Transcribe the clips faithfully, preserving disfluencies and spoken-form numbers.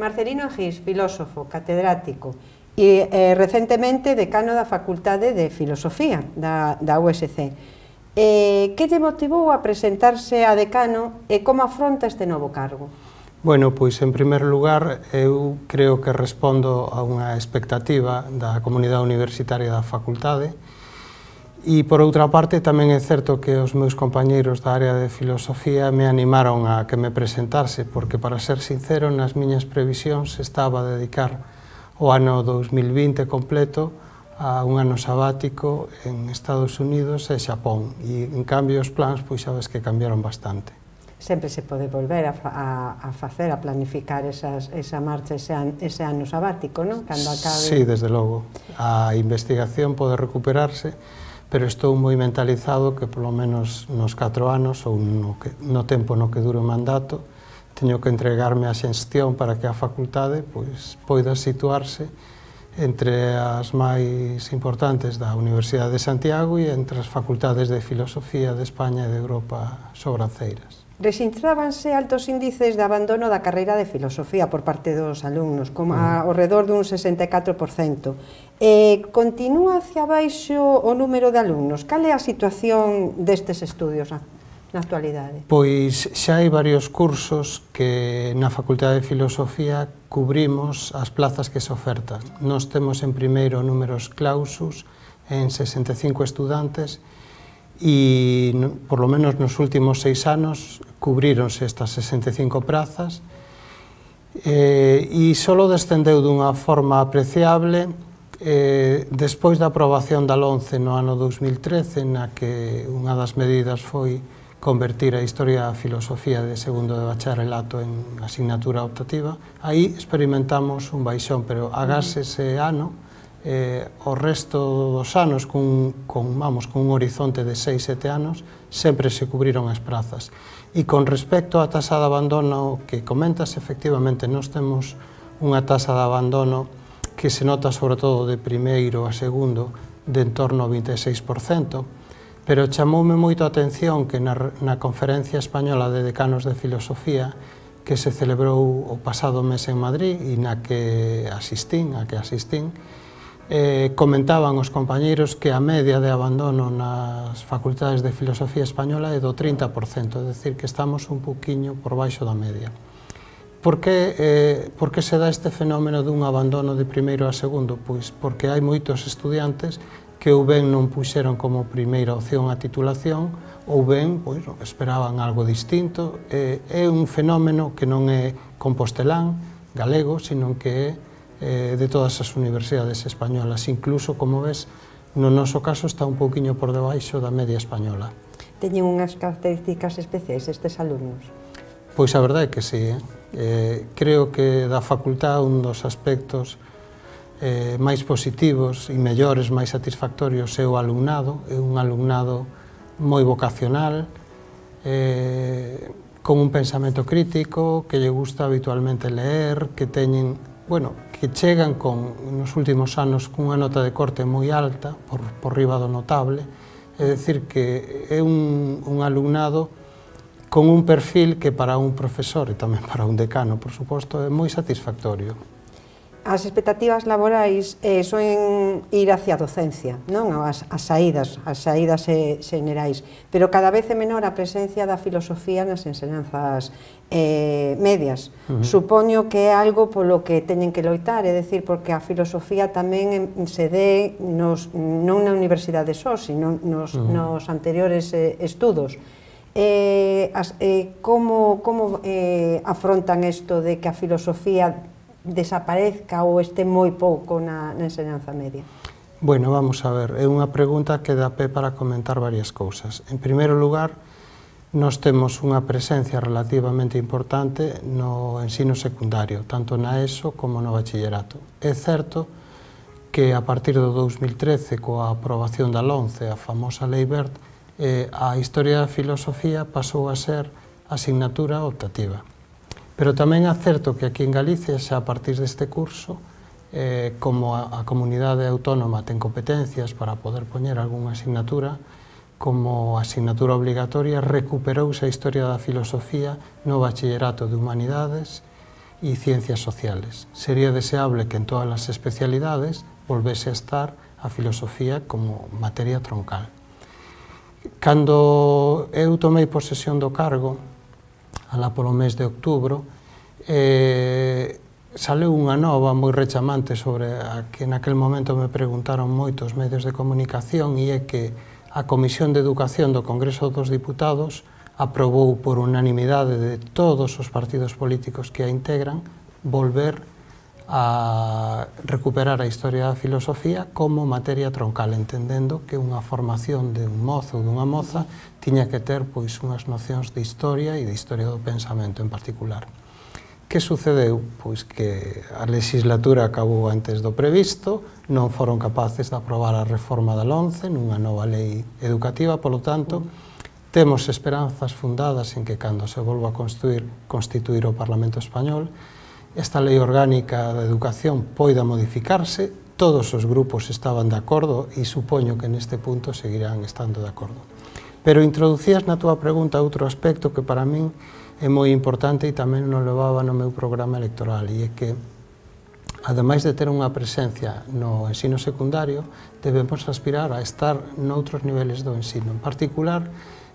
Marcelino Egís, filósofo, catedrático e eh, recentemente decano da Facultade de Filosofía da, da U S C. Eh, que lle motivou a presentarse a decano e como afronta este novo cargo? Bueno, pois, en primeiro lugar, eu creo que respondo a unha expectativa da comunidade universitaria da facultade e, por outra parte, tamén é certo que os meus compañeiros da área de filosofía me animaron a que me presentase, porque, para ser sincero, nas miñas previsións estaba a dedicar o ano dous mil vinte completo a un ano sabático en Estados Unidos e Xapón, e, en cambio, os plans, pois, sabes que cambiaron bastante. Sempre se pode volver a, a, a facer, a planificar esas, esa marcha, ese, an, ese ano sabático, non? Cando acabe... Sí, desde logo. A investigación pode recuperarse, pero estou moi mentalizado que polo menos nos catro anos ou no, que, no tempo no que dure o mandato teño que entregarme a xestión para que a facultade pois, poida situarse entre as máis importantes da Universidade de Santiago e entre as facultades de Filosofía de España e de Europa sobranceiras. Rexistrábanse altos índices de abandono da carreira de Filosofía por parte dos alumnos, como ao redor dun sesenta e catro por cento. Eh, continúa hacia baixo o número de alumnos? Cal é a situación destes estudios na, na actualidade? Pois xa hai varios cursos que na Facultade de Filosofía cubrimos as plazas que se ofertan. Nós temos en primeiro números clausus en sesenta e cinco estudantes e, por lo menos nos últimos seis anos, cubríronse estas sesenta e cinco prazas eh, e só descendeu dunha forma apreciable eh, despois da aprobación da LOMCE no ano dous mil trece, na que unha das medidas foi convertir a Historia da Filosofía de segundo de bacharelato en asignatura optativa. Aí experimentamos un baixón, pero agás ese ano, eh, o resto dos anos, con, con, vamos, con un horizonte de seis, sete anos, sempre se cubriron as prazas. E con respecto á tasa de abandono que comentas, efectivamente, nós temos unha tasa de abandono que se nota sobre todo de primeiro a segundo de en torno ao vinte e seis por cento, pero chamoume moito a atención que na, na Conferencia Española de Decanos de Filosofía que se celebrou o pasado mes en Madrid e na que asistín, a que asistín, eh, comentaban os compañeiros que a media de abandono nas facultades de Filosofía Española é do trinta por cento, é dicir, que estamos un poquinho por baixo da media. Por que, eh, por que se dá este fenómeno dun abandono de primeiro a segundo? Pois porque hai moitos estudiantes que ou ben non puxeron como primeira opción a titulación ou ben pois, esperaban algo distinto. Eh, é un fenómeno que non é compostelán, galego, sino que é eh, de todas as universidades españolas. Incluso, como ves, no noso caso está un pouquiño por debaixo da media española. Teñen unhas características especiais estes alumnos? Pois a verdade é que sí. Eh? Eh, creo que da facultad un dos aspectos eh, máis positivos e mellores, máis satisfactorios é o alumnado. É un alumnado moi vocacional, eh, con un pensamento crítico, que lle gusta habitualmente leer, que teñen, bueno, que chegan con, nos últimos anos cunha nota de corte moi alta, por, por riba do notable, é dicir que é un, un alumnado con un perfil que para un profesor e tamén para un decano, por suposto, é moi satisfactorio. As expectativas laborais eh, son ir hacia a docencia, non? As, as saídas, as saídas eh, xenerais, pero cada vez é menor a presencia da filosofía nas ensinanzas eh, medias. Uh -huh. Supoño que é algo polo que teñen que loitar, é dicir, porque a filosofía tamén se dé nos, non na universidade só, sino nos, uh -huh. nos anteriores eh, estudos. Eh, as, eh, como como eh, afrontan isto de que a filosofía desaparezca ou este moi pouco na, na enseñanza media? Bueno, vamos a ver, é unha pregunta que dá pé para comentar varias cousas. En primeiro lugar, nós temos unha presencia relativamente importante no ensino secundario, tanto na ESO como no bachillerato. É certo que a partir do dous mil trece, coa aprobación da LOMCE, a famosa Lei Wert, eh, a Historia da Filosofía pasou a ser asignatura optativa. Pero tamén é certo que aquí en Galicia, xa a partir deste curso, eh, como a, a comunidade autónoma ten competencias para poder poñer algunha asignatura, como asignatura obligatoria, recuperouse a Historia da Filosofía no bachillerato de Humanidades y ciencias sociales. Sería deseable que en todas las especialidades volvese a estar a filosofía como materia troncal. Cando eu tomei posesión do cargo, alá polo mes de outubro, eh, saleu unha nova moi rechamante sobre a que naquel momento me preguntaron moitos medios de comunicación, e é que a Comisión de Educación do Congreso dos Diputados aprobou por unanimidade de todos os partidos políticos que a integran volver a recuperar a historia da filosofía como materia troncal, entendendo que unha formación de un mozo ou dunha moza tiña que ter pois unhas nocións de historia e de historia do pensamento en particular. Que sucedeu? Pois que a legislatura acabou antes do previsto, non foron capaces de aprobar a reforma da LOMCE nunha nova lei educativa, polo tanto, temos esperanzas fundadas en que cando se volva a constituir, constituir o Parlamento Español, esta lei orgánica da educación poida modificarse, todos os grupos estaban de acordo e supoño que neste punto seguirán estando de acordo. Pero introducías na túa pregunta outro aspecto que para min é moi importante e tamén non levaba no meu programa electoral, e é que, ademais de ter unha presencia no ensino secundario, debemos aspirar a estar noutros niveles do ensino. En particular,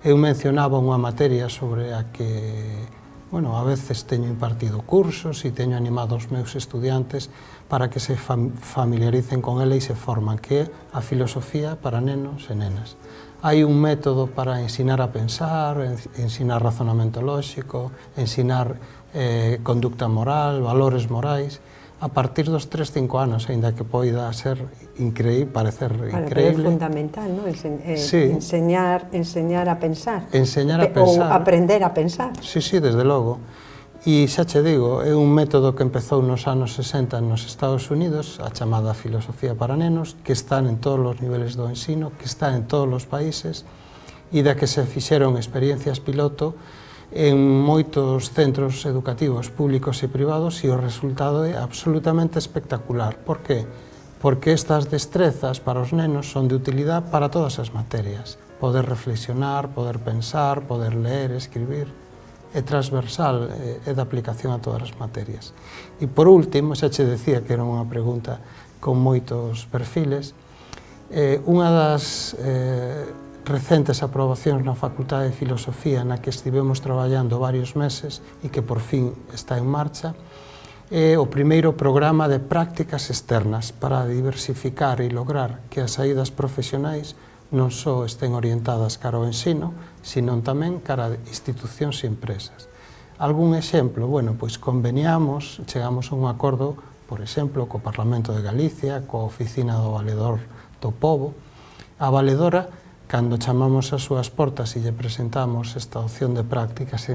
eu mencionaba unha materia sobre a que, bueno, a veces teño impartido cursos e teño animado os meus estudiantes para que se familiaricen con ela e se forman, que é a filosofía para nenos e nenas. Hai un método para ensinar a pensar, ensinar razonamento lóxico, ensinar eh, conducta moral, valores morais, a partir dos tres, cinco anos, aínda que poida ser increíble, parecer bueno, increíble. Pero é fundamental, non? Ense eh, sí. enseñar, enseñar a pensar. Enseñar a pensar. Ou aprender a pensar. Sí, sí, desde logo. E xa che digo, é un método que empezou nos anos sesenta nos Estados Unidos, a chamada filosofía para nenos, que están en todos os niveles do ensino, que está en todos os países, e da que se fixeron experiencias piloto en moitos centros educativos públicos e privados, e o resultado é absolutamente espectacular. Por que? Porque estas destrezas para os nenos son de utilidade para todas as materias. Poder reflexionar, poder pensar, poder ler, escribir, é transversal, é de aplicación a todas as materias. E por último, xa che decía que era unha pregunta con moitos perfiles, eh, unha das eh, recentes aprobacións na Facultade de Filosofía na que estivemos traballando varios meses e que por fin está en marcha, é o primeiro programa de prácticas externas para diversificar e lograr que as saídas profesionais non só estén orientadas cara ao ensino, sino tamén cara a institucións e empresas. Algún exemplo? Bueno, pois conveniamos, chegamos a un acordo, por exemplo, co Parlamento de Galicia, coa Oficina do Valedor do Pobo. A valedora, cando chamamos as súas portas e lle presentamos esta opción de prácticas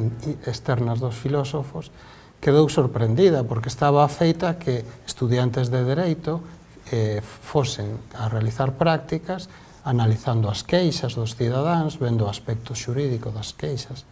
externas dos filósofos, quedou sorprendida, porque estaba feita que estudiantes de Dereito eh, fosen a realizar prácticas analizando as queixas dos cidadáns, vendo o aspecto xurídico das queixas.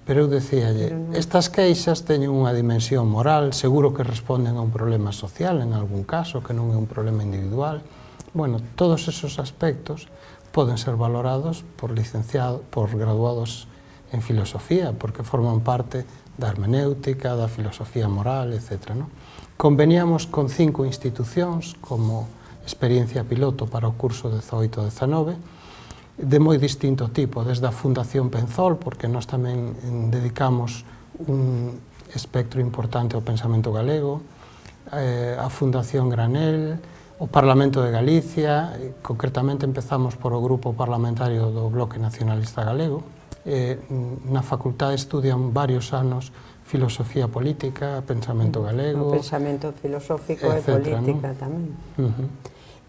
Pero eu decíalle, estas queixas teñen unha dimensión moral, seguro que responden a un problema social en algún caso, que non é un problema individual. Bueno, todos esos aspectos poden ser valorados por licenciados, por graduados en filosofía, porque forman parte da hermenéutica, da filosofía moral, etcétera. ¿no? Conveniamos con cinco institucións como experiencia piloto para o curso dezoito dezanove, de moi distinto tipo, desde a Fundación Penzol, porque nós tamén dedicamos un espectro importante ao pensamento galego, eh, a Fundación Granel, o Parlamento de Galicia, concretamente empezamos por o grupo parlamentario do Bloque Nacionalista Galego, eh, na facultade estudian varios anos filosofía política, pensamento galego... O pensamento filosófico e política tamén.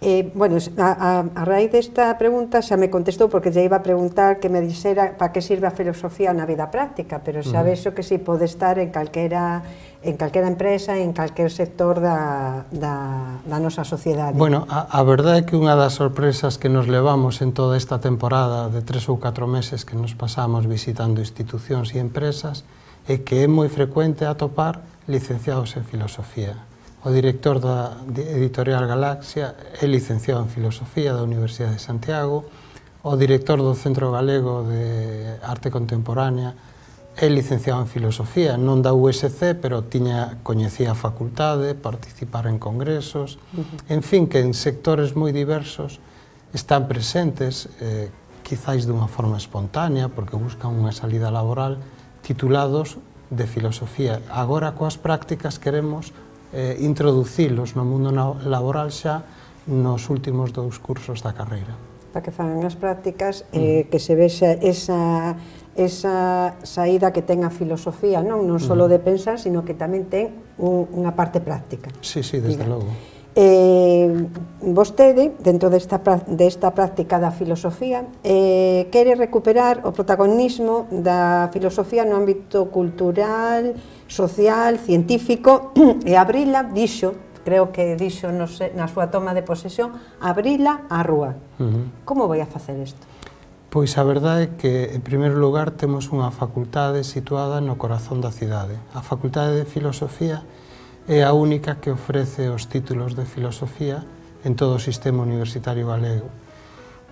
Eh, bueno, a, a, a raíz desta pregunta xa me contestou, porque xa iba a preguntar que me dixera para que sirve a filosofía na vida práctica, pero xa vexo que si pode estar en calquera, en calquera empresa, en calquer sector da, da, da nosa sociedade. Bueno, a, a verdade é que unha das sorpresas que nos levamos en toda esta temporada de tres ou catro meses que nos pasamos visitando institucións e empresas é que é moi frecuente atopar licenciados en filosofía. O director da editorial Galaxia é licenciado en Filosofía da Universidade de Santiago, o director do Centro Galego de Arte Contemporánea é licenciado en Filosofía, non da U S C, pero tiña, coñecía a facultade, participar en congresos, en fin, que en sectores moi diversos están presentes, eh, quizáis dunha forma espontánea, porque buscan unha salida laboral, titulados de Filosofía. Agora, coas prácticas, queremos eh, introducilos no mundo laboral xa nos últimos dous cursos da carreira. Para que fagan as prácticas, eh, que se vexa esa, esa saída que ten a filosofía, non non só de pensar, sino que tamén ten un, unha parte práctica. Sí, sí, desde Diga. logo. Eh, vostede, dentro desta, desta práctica da filosofía, eh, quere recuperar o protagonismo da filosofía no ámbito cultural, social, científico, e abrila, dixo, creo que dixo no sé, na súa toma de posesión, abrila á rúa. Uh-huh. Como vai a facer isto? Pois a verdade é que, en primeiro lugar, temos unha facultade situada no corazón da cidade. A Facultade de Filosofía é a única que ofrece os títulos de filosofía en todo o sistema universitario galego.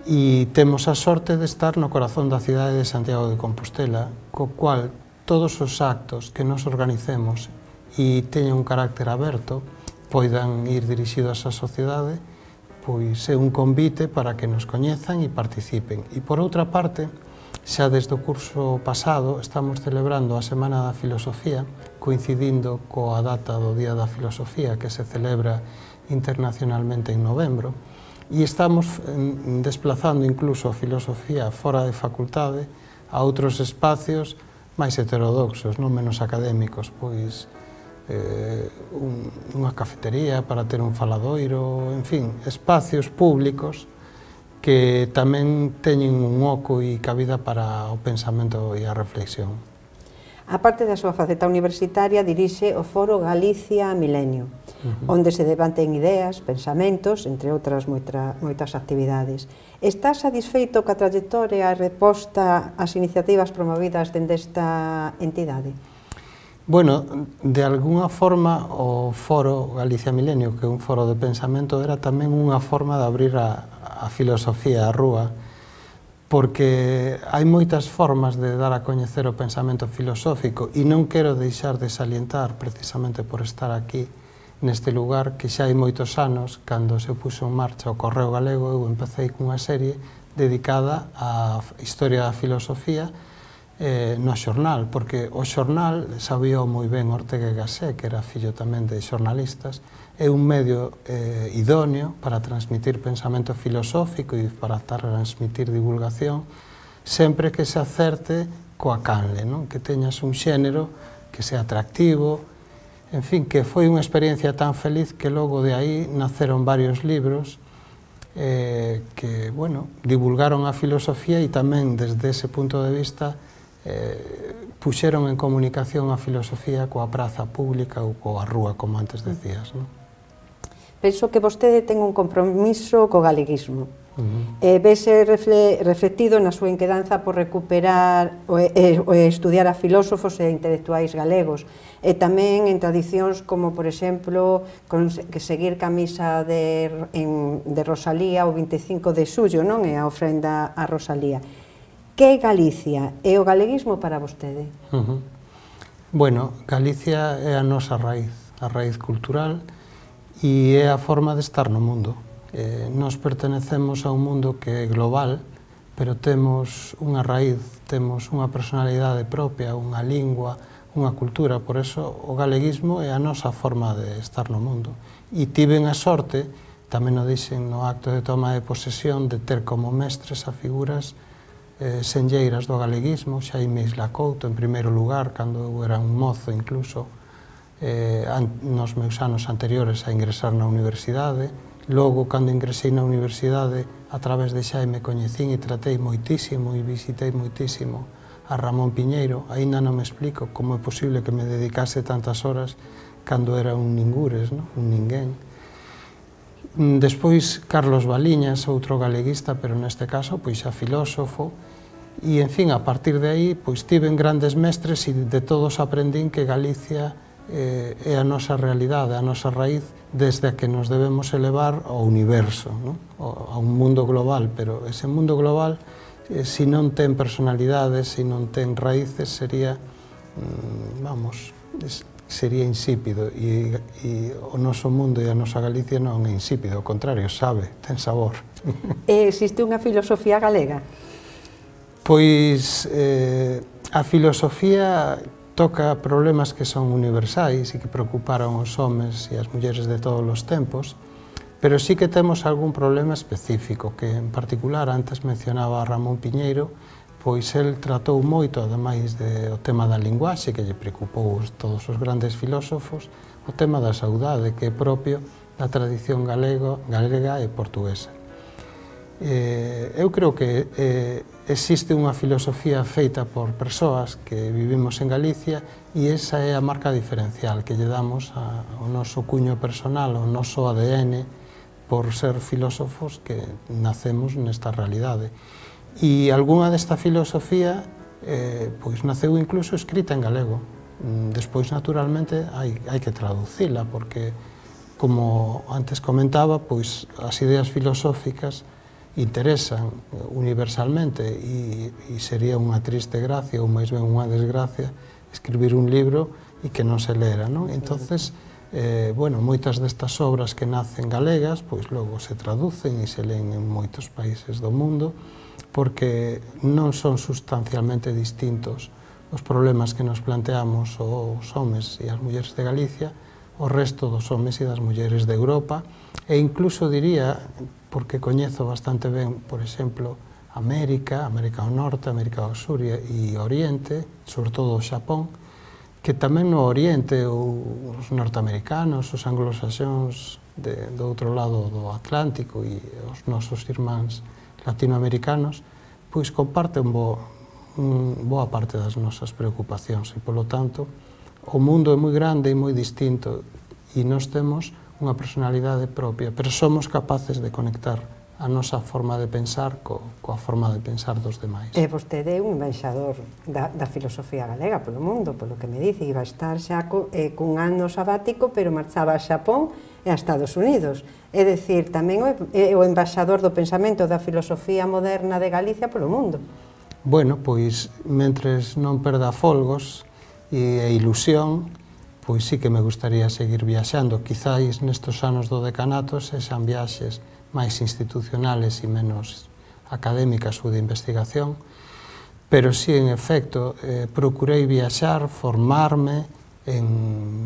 E temos a sorte de estar no corazón da cidade de Santiago de Compostela, co cual todos os actos que nos organicemos e teñen un carácter aberto, poidan ir dirixidos á sociedade, pois é un convite para que nos coñezan e participen. E por outra parte, xa desde o curso pasado estamos celebrando a Semana da Filosofía, coincidindo coa data do Día da Filosofía, que se celebra internacionalmente en novembro, e estamos desplazando incluso a filosofía fora de facultade a outros espacios máis heterodoxos, non menos académicos, pois eh, un, unha cafetería para ter un faladoiro, en fin, espacios públicos que tamén teñen un oco e cabida para o pensamento e a reflexión. A parte da súa faceta universitaria, dirixe o Foro Galicia Milenio, uh-huh. onde se debaten ideas, pensamentos, entre outras moita, moitas actividades. Está satisfeito coa trayectoria e reposta ás iniciativas promovidas dende esta entidade? Bueno, de alguna forma o Foro Galicia Milenio, que é un foro de pensamento, era tamén unha forma de abrir a, a filosofía á rúa, porque hai moitas formas de dar a coñecer o pensamento filosófico e non quero deixar de salientar, precisamente por estar aquí neste lugar, que xa hai moitos anos, cando se puxo en marcha o Correo Galego, eu empecé cunha serie dedicada á historia da filosofía eh, no xornal, porque o xornal, sabía moi ben Ortega y Gasset, que era fillo tamén de xornalistas, é un medio eh, idóneo para transmitir pensamento filosófico e para transmitir divulgación, sempre que se acerte coa canle, non? Que teñas un xénero que sea atractivo, en fin, que foi unha experiencia tan feliz que logo de aí naceron varios libros eh, que, bueno, divulgaron a filosofía e tamén desde ese punto de vista eh, puxeron en comunicación a filosofía coa praza pública ou coa rúa, como antes decías, non? Penso que vostede ten un compromiso co galeguismo. Uh-huh. eh, vese refle, reflectido na súa inquedanza por recuperar o, e, o estudiar a filósofos e intelectuais galegos, e tamén en tradicións como, por exemplo, con, que seguir camisa de, en, de Rosalía o vinte e cinco de xullo, non? E a ofrenda a Rosalía. Que é Galicia e o galeguismo para vostede? Uh-huh. Bueno, Galicia é a nosa raíz, a raíz cultural, e é a forma de estar no mundo. Eh, nos pertenecemos a un mundo que é global, pero temos unha raíz, temos unha personalidade propia, unha lingua, unha cultura, por eso o galeguismo é a nosa forma de estar no mundo. E tiven a sorte, tamén o dixen no acto de toma de posesión, de ter como mestres a figuras eh, senlleiras do galeguismo, Xaime Isla Couto, en primeiro lugar, cando eu era un mozo incluso, Eh, nos meus anos anteriores a ingresar na universidade. Logo, cando ingresei na universidade, a través de Xaime coñecín e tratei moitísimo e visitei moitísimo a Ramón Piñeiro. Aínda non me explico como é posible que me dedicase tantas horas cando era un ningures, no? Un ninguén. Despois, Carlos Baliñas, outro galeguista, pero neste caso, pois xa filósofo, e, en fin, a partir de aí, pois tiven grandes mestres e de todos aprendín que Galicia Eh, é a nosa realidade, a nosa raíz, desde a que nos debemos elevar ao universo, ¿no? A un mundo global, pero ese mundo global eh, se non ten personalidades, se non ten raíces, sería, mm, vamos, es, sería insípido, e, e o noso mundo e a nosa Galicia non é insípido, ao contrario, sabe, ten sabor. Existe unha filosofía galega? Pois eh, a filosofía toca problemas que son universais e que preocuparon os homes e as mulleres de todos os tempos, pero sí que temos algún problema específico, que en particular antes mencionaba a Ramón Piñeiro, pois el tratou moito, ademais do tema da linguaxe, que lle preocupou a todos os grandes filósofos, o tema da saudade, que é propio da tradición galego, galega e portuguesa. Eh, eu creo que eh, existe unha filosofía feita por persoas que vivimos en Galicia e esa é a marca diferencial que lle damos a, ao noso cuño personal, ao noso A D N, por ser filósofos que nacemos nesta realidade. E algunha desta filosofía eh, pois naceu incluso escrita en galego. Despois, naturalmente, hai, hai que traducila, porque, como antes comentaba, pois as ideas filosóficas interesan universalmente e, e sería unha triste gracia, ou máis ben unha desgracia, escribir un libro e que non se lera, non? Entonces, eh, bueno, moitas destas obras que nacen galegas, pois logo se traducen e se leen en moitos países do mundo, porque non son sustancialmente distintos os problemas que nos planteamos os homes e as mulleres de Galicia, o resto dos homes e das mulleres de Europa, e incluso diría, porque coñezo bastante ben, por exemplo, América, América do Norte, América do Sur e Oriente, sobre todo o Xapón, que tamén no Oriente os norteamericanos, os anglosaxóns de, do outro lado do Atlántico e os nosos irmáns latinoamericanos, pois comparten bo, un, boa parte das nosas preocupacións e, polo tanto, o mundo é moi grande e moi distinto e nós temos unha personalidade propia, pero somos capaces de conectar a nosa forma de pensar co, coa forma de pensar dos demais. E vostede é un embaixador da, da filosofía galega polo mundo, polo que me dice, iba a estar xa co, eh, cun ano sabático, pero marchaba a Xapón e a Estados Unidos. É dicir, tamén é o embaixador do pensamento da filosofía moderna de Galicia polo mundo. Bueno, pois, mentres non perda folgos e ilusión, pois sí que me gustaría seguir viaxando. Quizáis nestes anos do decanato sexan viaxes máis institucionales e menos académicas ou de investigación, pero sí, en efecto, eh, procurei viaxar, formarme en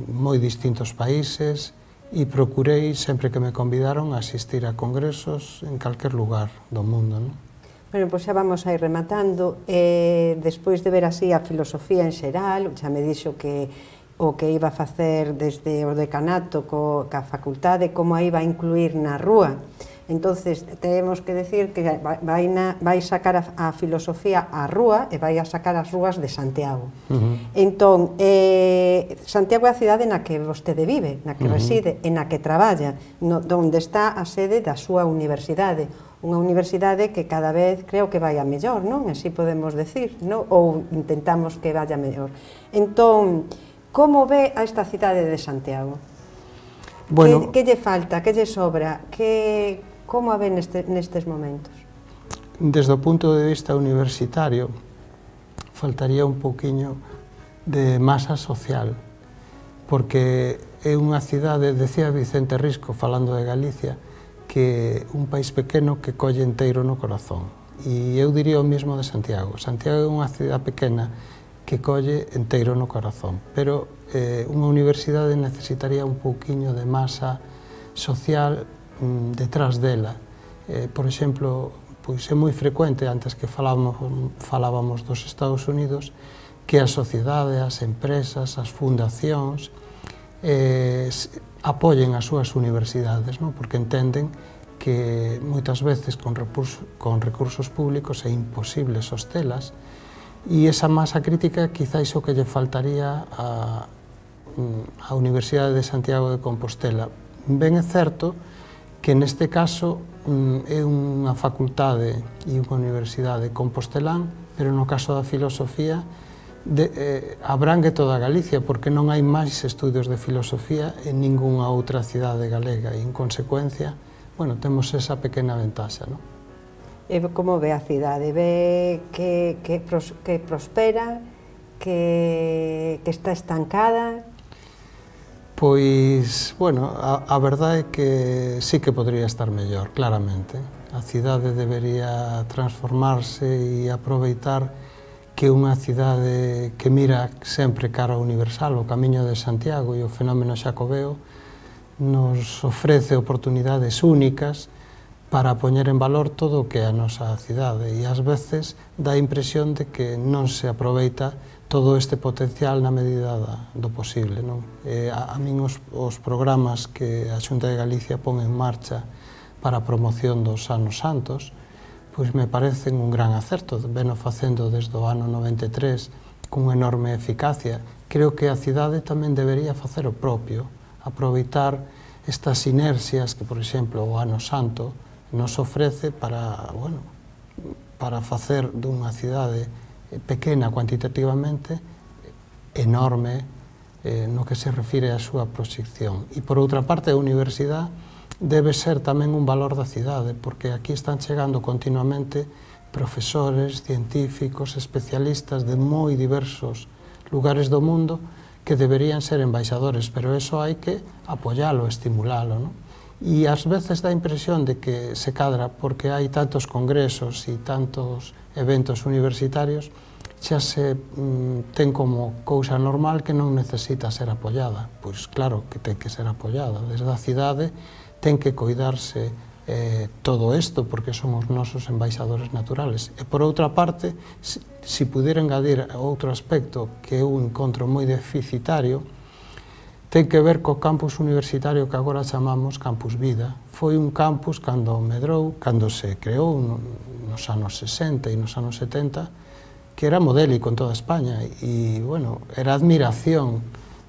moi distintos países, e procurei, sempre que me convidaron, a asistir a congresos en calquer lugar do mundo, non? Bueno, pois xa vamos a ir rematando. Eh, despois de ver así a filosofía en xeral, xa me dixo que o que iba a facer desde o decanato co, ca facultade, como a iba a incluir na rúa. Entonces, temos que decir que vai, na, vai sacar a, a filosofía á rúa e vai a sacar as rúas de Santiago. Uh-huh. Entón, eh, Santiago é a cidade na que vostede vive, na que uh-huh. reside e na que traballa, no, onde está a sede da súa universidade. Unha universidade que cada vez creo que vai a mellor, non? Así podemos decir, non? Ou intentamos que vaya mellor. Entón, como ve a esta cidade de Santiago? Bueno, que, que lle falta, que lle sobra, que... Como a ven neste, nestes momentos? Desde o punto de vista universitario, faltaría un pouquiño de masa social, porque é unha cidade, decía Vicente Risco, falando de Galicia, que un país pequeno que colle enteiro no corazón. E eu diría o mesmo de Santiago. Santiago é unha cidade pequena que colle enteiro no corazón, pero eh, unha universidade necesitaría un pouquiño de masa social detrás dela. Eh, por exemplo, pois é moi frecuente, antes que falábamos, falábamos dos Estados Unidos, que a sociedade, as empresas, as fundacións eh, apoyen as súas universidades, non? Porque entenden que moitas veces con recursos, con recursos públicos é imposible sostelas, e esa masa crítica quizáis o que lle faltaría a, a Universidade de Santiago de Compostela. Ben é certo que neste caso é unha facultade e unha universidade compostelán, pero no caso da filosofía de, eh, abrangue toda Galicia, porque non hai máis estudios de filosofía en ningunha outra cidade galega e, en consecuencia, bueno, temos esa pequena ventaxa, non? E como ve a cidade? Ve que, que, pros, que prospera, que, que está estancada? Pois, bueno, a, a verdade é que sí que podría estar mellor, claramente. A cidade debería transformarse e aproveitar que unha cidade que mira sempre cara ao universal, o Camiño de Santiago e o fenómeno xacobeo, nos ofrece oportunidades únicas para poñer en valor todo o que é a nosa cidade, e ás veces dá a impresión de que non se aproveita todo este potencial na medida do posible, non? E a, a min os, os programas que a Xunta de Galicia pon en marcha para a promoción dos anos santos, pois me parecen un gran acerto, veno facendo desde o ano noventa e tres con enorme eficacia. Creo que a cidade tamén debería facer o propio, aproveitar estas sinerxias que, por exemplo, o Ano Santo nos ofrece para, bueno, para facer dunha cidade pequena cuantitativamente, enorme eh, no que se refire á súa proxección. E, por outra parte, a universidade debe ser tamén un valor da cidade, porque aquí están chegando continuamente profesores, científicos, especialistas de moi diversos lugares do mundo que deberían ser embaixadores, pero eso hai que apoialo, estimulalo, non? E ás veces dá a impresión de que se cadra porque hai tantos congresos e tantos eventos universitarios, xa se mm, ten como cousa normal que non necesita ser apoiada. Pois claro que ten que ser apoiada. Desde a cidade ten que coidarse eh, todo isto, porque son os nosos embaixadores naturales. E por outra parte, se si pudiera engadir outro aspecto que eu encontro moi deficitario, ten que ver co campus universitario que agora chamamos Campus Vida. Foi un campus cando medrou, cando se creou nos anos sesenta e nos anos setenta, que era modélico en toda España e, bueno, era admiración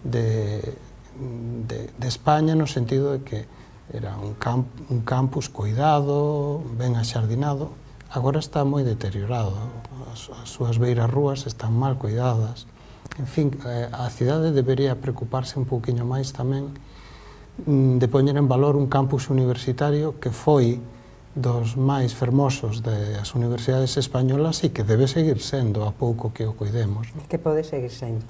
de, de, de España no sentido de que era un, camp, un campus cuidado, ben axardinado. Agora está moi deteriorado, as, as súas beiras rúas están mal cuidadas. En fin, a cidade debería preocuparse un pouquiño máis tamén de poñer en valor un campus universitario que foi dos máis fermosos das universidades españolas e que debe seguir sendo a pouco que o cuidemos. Que pode seguir sendo.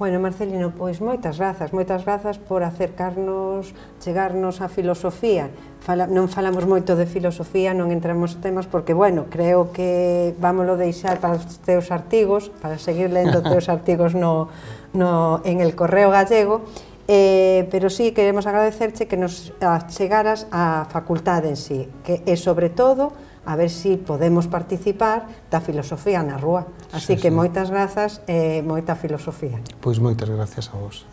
Bueno, Marcelino, pois moitas grazas, moitas grazas por acercarnos, chegarnos á filosofía. Fala, non falamos moito de filosofía, non entramos en temas, porque, bueno, creo que vámoslo deixar para os teus artigos, para seguir lendo teus artigos no, no, en el Correo Gallego, eh, pero sí queremos agradecerche que nos chegaras á facultade en sí, que é sobre todo a ver se si podemos participar da filosofía na rúa. Así sí, que sí. Moitas grazas e moita filosofía. Pois moitas gracias a vos.